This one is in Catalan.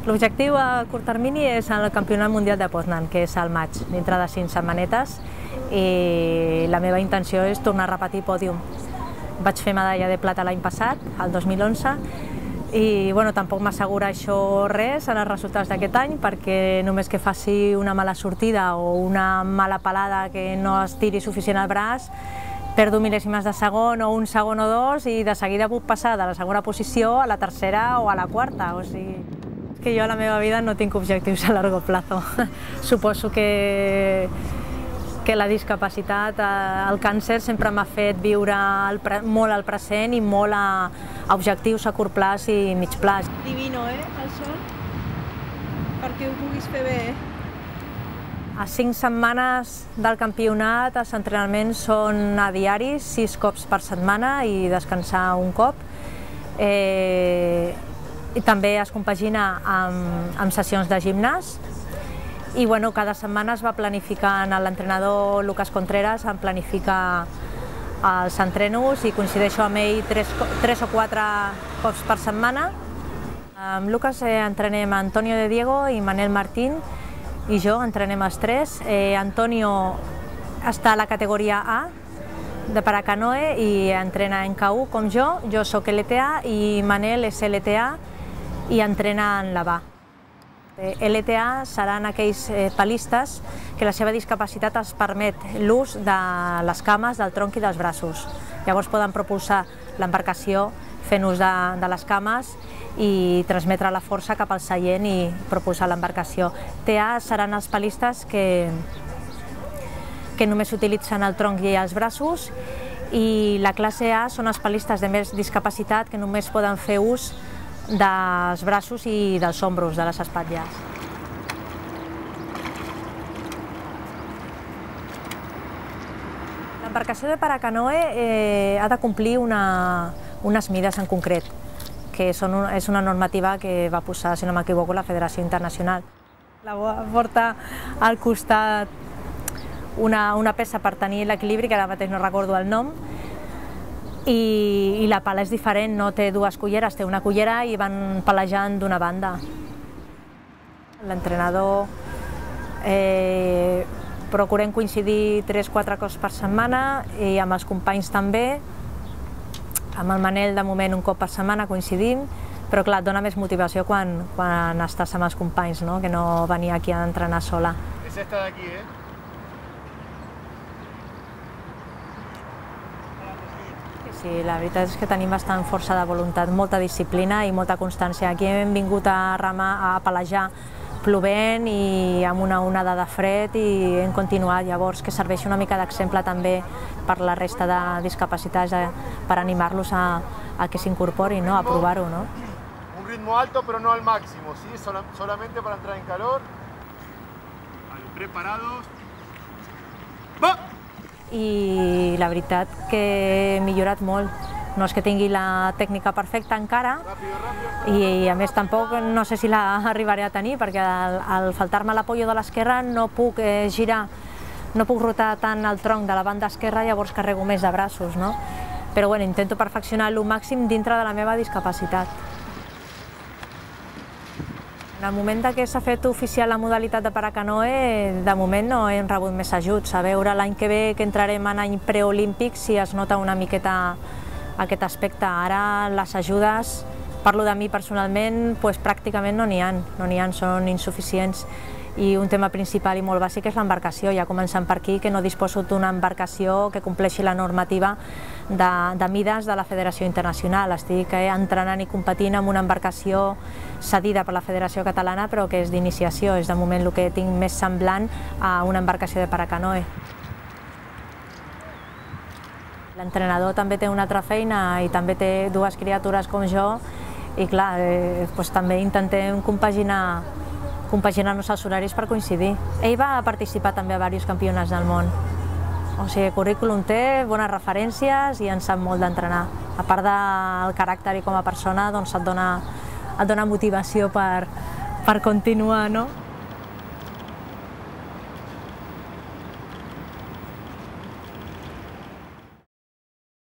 L'objectiu a curt termini és el Campionat Mundial de Poznan, que és al maig, dintre de 5 setmanetes, i la meva intenció és tornar a repetir pòdium. Vaig fer medalla de plata l'any passat, el 2011, i tampoc m'assegura això res en els resultats d'aquest any, perquè només que faci una mala sortida o una mala pelada que no es tiri suficient al braç, perdo mil·lèsimes de segon o un segon o dos i de seguida puc passar de la segona posició a la tercera o a la quarta. O sigui, que jo a la meva vida no tinc objectius a largo plazo. Suposo que la discapacitat, el càncer sempre m'ha fet viure molt al present i molt a objectius a curt plaç i mig plaç. Divino, el sol? Perquè ho puguis fer bé, A 5 setmanes del campionat els entrenaments són a diaris, 6 cops per setmana i descansar un cop. I també es compagina amb sessions de gimnàs. I cada setmana es va planificant, l'entrenador Lucas Contreras em planifica els entrenos i coincideixo amb ell 3 o 4 cops per setmana. Amb Lucas entrenem Antonio de Diego i Manel Martín, i jo entrenem els 3. Antonio està a la categoria A de paracanoe i entrena en K1 com jo soc LTA i Manel és LTA i entrena en la BA. LTA seran aquells palistes que la seva discapacitat els permet l'ús de les cames, del tronc i dels braços. Llavors poden propulsar l'embarcació fent ús de les cames i transmetre la força cap al seient i propulsar l'embarcació. TA seran els palistes que només utilitzen el tronc i els braços, i la classe A són els palistes de més discapacitat que només poden fer ús dels braços i dels ombros, de les espatlles. L'embarcació de paracanoe ha de complir unes mides en concret, que és una normativa que va posar, si no m'equivoco, la Federació Internacional. La porta al costat una peça per tenir l'equilibri, que ara mateix no recordo el nom, i la pala és diferent, no té 2 culleres, té una cullera i van palejant d'una banda. L'entrenador procurem coincidir 3-4 cops per setmana i amb els companys també. Amb el Manel, de moment, un cop per setmana coincidim, però clar, et dona més motivació quan estàs amb els companys, que no venir aquí a entrenar sola. És esta d'aquí, Sí, la veritat és que tenim bastant força de voluntat, molta disciplina i molta constància. Aquí hem vingut a remar, a pelejar plovent i amb una onada de fred i hem continuat, llavors que serveixi una mica d'exemple també per la resta de discapacitats, per animar-los a que s'incorporin, a provar-ho. Un ritmo alto pero no al máximo, ¿sí? Solamente para entrar en calor. Preparados. ¡Va! I la veritat que he millorat molt. No és que tingui la tècnica perfecta encara i a més tampoc no sé si la arribaré a tenir, perquè al faltar-me l'apoyo de l'esquerra no puc girar, no puc rotar tant el tronc de la banda esquerra, llavors carrego més de braços. Però intento perfeccionar-lo al màxim dintre de la meva discapacitat. En el moment que s'ha fet oficial la modalitat de paracanoe, de moment no hem rebut més ajuts. A veure l'any que ve, que entrarem en any preolímpic, si es nota una miqueta aquest aspecte. Ara les ajudes, parlo de mi personalment, pràcticament no n'hi ha, són insuficients. I un tema principal i molt bàsic és l'embarcació, ja començant per aquí, que no disposo d'una embarcació que compleixi la normativa de mides de la Federació Internacional. Estic entrenant i competint amb una embarcació cedida per la Federació Catalana, però que és d'iniciació, és de moment el que tinc més semblant a una embarcació de paracanoe. L'entrenador també té una altra feina i també té 2 criatures com jo i clar, també intentem compaginar-nos els horaris per coincidir. Ell va participar també a diversos campionats del món. O sigui, currículum té, bones referències i en sap molt d'entrenar. A part del caràcter i com a persona, et dona motivació per continuar,